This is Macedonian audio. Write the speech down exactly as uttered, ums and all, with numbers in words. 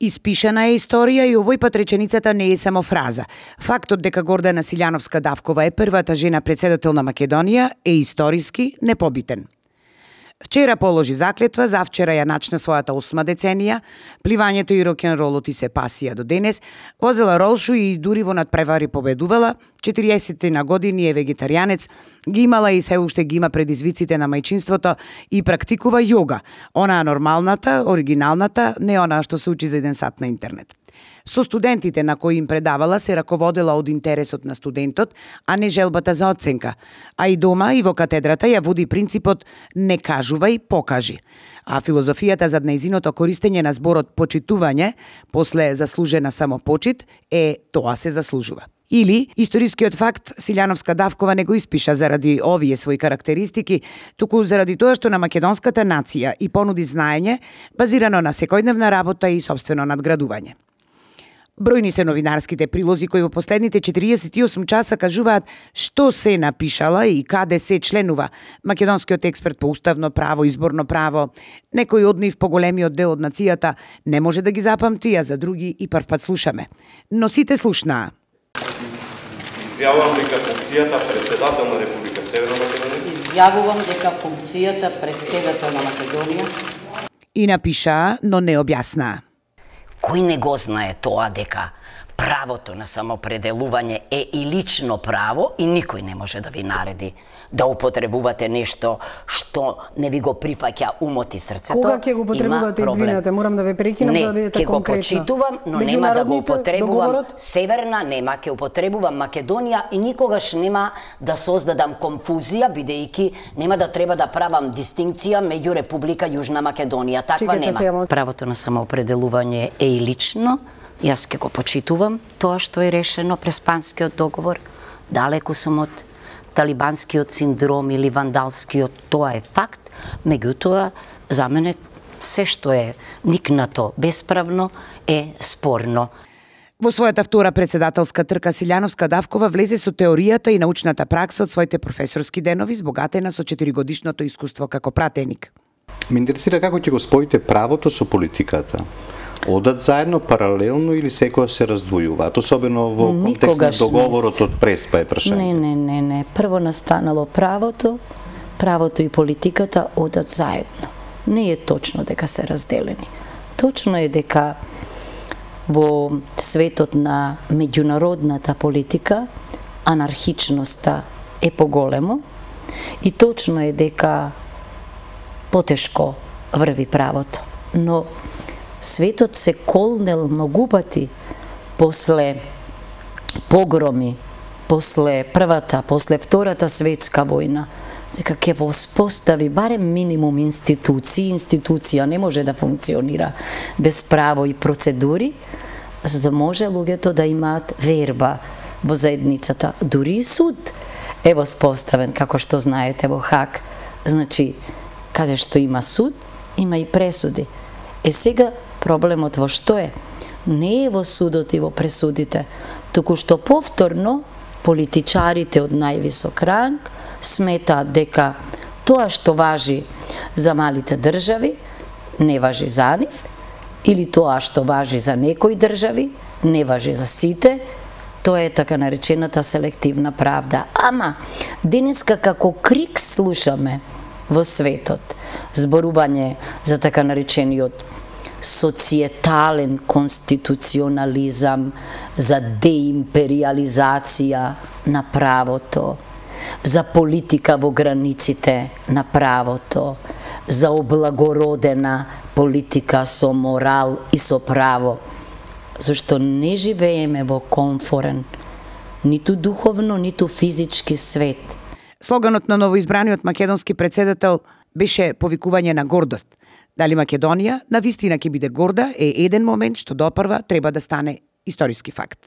Испишана е историја и овој пат реченицата не е само фраза. Фактот дека Гордана Силјановска-Давкова е првата жена председател на Македонија е историски непобитен. Вчера положи заклетва, завчера ја начна својата осма деценија, пливањето и рок-н-ролот и се пасија до денес, возела ролшу и дури во надпревари победувала, четириесет на години е вегетаријанец, ги имала и се уште ги има предизвиците на мајчинството и практикува јога, онаа нормалната, оригиналната, не онаа што се учи за еден сат на интернет. Со студентите на кои им предавала се раководела од интересот на студентот, а не желбата за оценка. А и дома и во катедрата ја води принципот не кажувај, покажи. А филозофијата за нејзиното користење на зборот почитување, после заслужена самопочит, е тоа се заслужува. Или, историскиот факт, Силјановска-Давкова не го испиша заради овие своји карактеристики, туку заради тоа што на македонската нација и понуди знаење, базирано на секојдневна работа и сопствено надградување. Бројни се новинарските прилози кои во последните четириесет и осум часа кажуваат што се напишала и каде се членува македонскиот експерт по уставно право, изборно право. Некој од нив, поголемиот дел од нацијата, не може да ги запамти, а за други и прв пат слушаме. Но сите слушнаа. Изјавувам дека функцијата председател на Република Северна Македонија. Изјавувам дека функцијата председател на Македонија. И напишаа, но не објаснаа. Кој не го знае тоа дека правото на самопределување е и лично право и никој не може да ви нареди да употребувате нешто што не ви го прифаќа умот и срцето. Кога ќе го употребувате, извинете, морам да ве прекинам за да бидете конкретна. Не, ќе го почитувам, но нема да го употребувам договорот? Северна, нема, ќе употребувам Македонија и никогаш нема да создадам конфузија, бидејќи нема да треба да правам дистинкција меѓу Република Јужна Македонија. Таква Чекайте, нема. Сега... Правото на самоопределување е и лично. Јас ќе го почитувам тоа што е решено през Панскиот договор. Далеку сум од талибанскиот синдром или вандалскиот, тоа е факт. Меѓутоа, за мене се што е никнато бесправно е спорно. Во својата втора председателска трка Силјановска-Давкова влезе со теоријата и научната пракса од своите професорски денови, збогатена со четиригодишното искуство како пратеник. Ме интересира како ќе го споите правото со политиката. Одат заедно, паралелно или секоја се раздвојуваат, особено во контекст на договорот од Преспа е прашање? Не, не, не, не. Прво настанало правото, правото и политиката одат заедно. Не е точно дека се разделени. Точно е дека во светот на меѓународната политика анархичноста е поголемо и точно е дека потешко врви правото. Но светот се колнел многу пати после погроми, после првата, после втората светска војна, дека ќе воспостави барем минимум институции. Институција не може да функционира без право и процедури, за да може луѓето да имаат верба во заедницата. Дури и суд е воспоставен, како што знаете, во Хаг. Значи, каде што има суд, има и пресуди. Е сега проблемот во што е? Не е во судот и во пресудите, туку што повторно политичарите од највисок ранг сметаат дека тоа што важи за малите држави не важи за нив, или тоа што важи за некои држави не важи за сите. Тоа е така наречената селективна правда. Ама, денеска како крик слушаме во светот зборување за така наречениот социетален конституционализам, за деимпериализација на правото, за политика во границите на правото, за облагородена политика со морал и со право, зашто не живееме во комфорен, ниту духовно, ниту физички свет. Слоганот на новоизбраниот македонски председател беше повикување на гордост. Дали Македонија на вистина ќе биде горда е еден момент што допрва треба да стане историски факт.